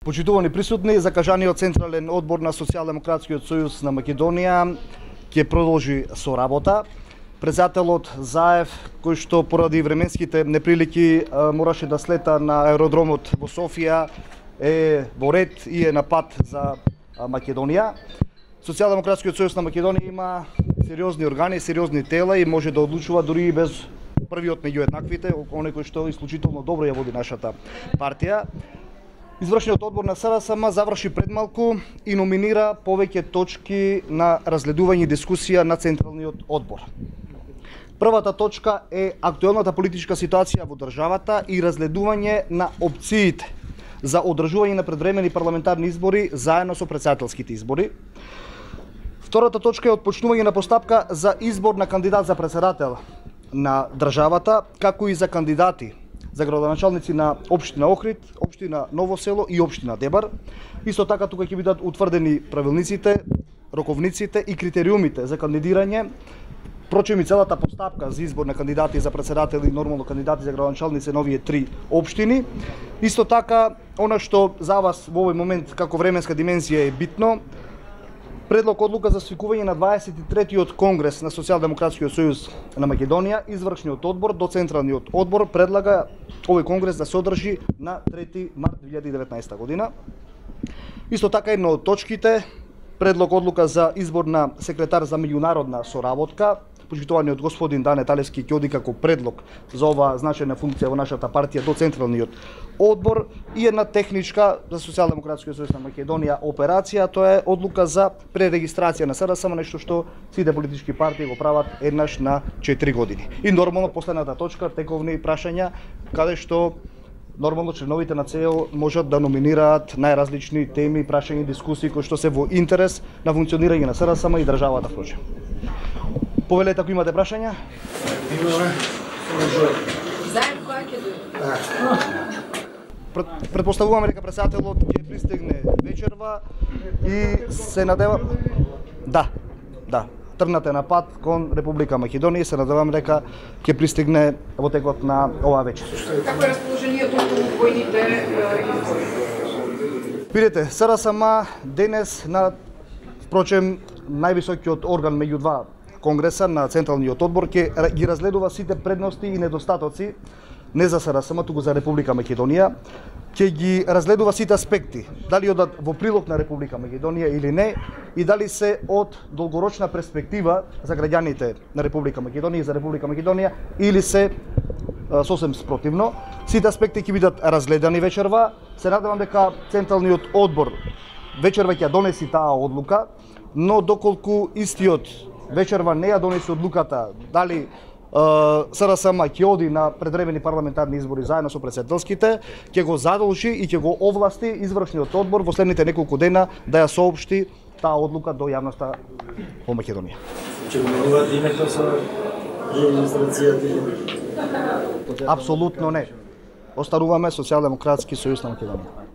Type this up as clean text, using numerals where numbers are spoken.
Почитувани присутни, закажаниот Централен одбор на Социјалдемократскиот сојуз на Македонија ќе продолжи со работа. Председателот Заев, кој што поради временските неприлики мораше да слета на аеродромот во Софија, е во ред и е на пат за Македонија. Социјалдемократскиот сојуз на Македонија има сериозни органи, сериозни тела и може да одлучува дури и без првиот меѓу еднаквите, оној кој што исклучително добро ја води нашата партија. Извршниот одбор на СРСМ заврши предмалку и номинира повеќе точки на разгледување и дискусија на Централниот одбор. Првата точка е актуелната политичка ситуација во државата и разгледување на опциите за одржување на предвремени парламентарни избори заедно со претседателските избори. Втората точка е отпочнување на постапка за избор на кандидат за претседател на државата, како и за кандидати за градоначалници на општина Охрид, општина Ново село и општина Дебар. Исто така тука ќе бидат утврдени правилниците, роковниците и критериумите за кандидирање, впрочем и целата постапка за избор на кандидати за претседател и нормално кандидати за градоначалници на овие три општини. Исто така, она што за вас во овој момент како временска димензија е битно, предлог одлука за свикување на 23-тиот конгрес на Социјалдемократскиот сојуз на Македонија, извршниот одбор до Централниот одбор предлага овој конгрес да се одржи на 3 март 2019 година. Исто така една од точките, предлог одлука за избор на секретар за меѓународна соработка, почитуваниот господин Дане Талевски ќе оди како предлог за оваа значајна функција во нашата партија до Централниот одбор, и една техничка за Социјалдемократскиот сојуз на Македонија операција, тоа е одлука за пререгистрација на СРСМ, нешто што сите политички партии го прават еднаш на 4 години. И нормално последната точка, тековни прашања, каде што нормално членовите на ЦЕО можат да номинираат најразлични теми, прашања и дискусии кои што се во интерес на функционирање на СРСМ и државата впрочем. Повелете ако имате прашања. Имаме. Заедно која ќе дојде? Предпоставуваме дека претседателот ќе пристигне вечерва и се надевам. Да. Тргнате на пат кон Република Македонија и се надевам дека ќе пристигне во текот на оваа вечер. Како е расположението во војните избори? Видете, СРСМ денес на впрочем највисокиот орган меѓу два конгреса на Централниот одбор ќе ги разгледува сите предности и недостатоци не за СРСМ, туку за Република Македонија, ќе ги разгледува сите аспекти, дали одат во прилог на Република Македонија или не, и дали се од долгорочна перспектива за граѓаните на Република Македонија и за Република Македонија, или се сосем спротивно. Сите аспекти ќе бидат разгледани вечерва. Се надевам дека Централниот одбор вечерва ќе донеси таа одлука, но доколку истиот вечерва не ја донесе одлуката дали СРСМ ќе оди на предвремени парламентарни избори заедно со претседателските, ќе го задолжи и ќе го овласти извршниот одбор во следните неколку дена да ја соопшти таа одлука до јавноста во Македонија. Ќе го менувате името со регистрацијата? Апсолутно не. Остануваме Социјалдемократски сојуз на Македонија.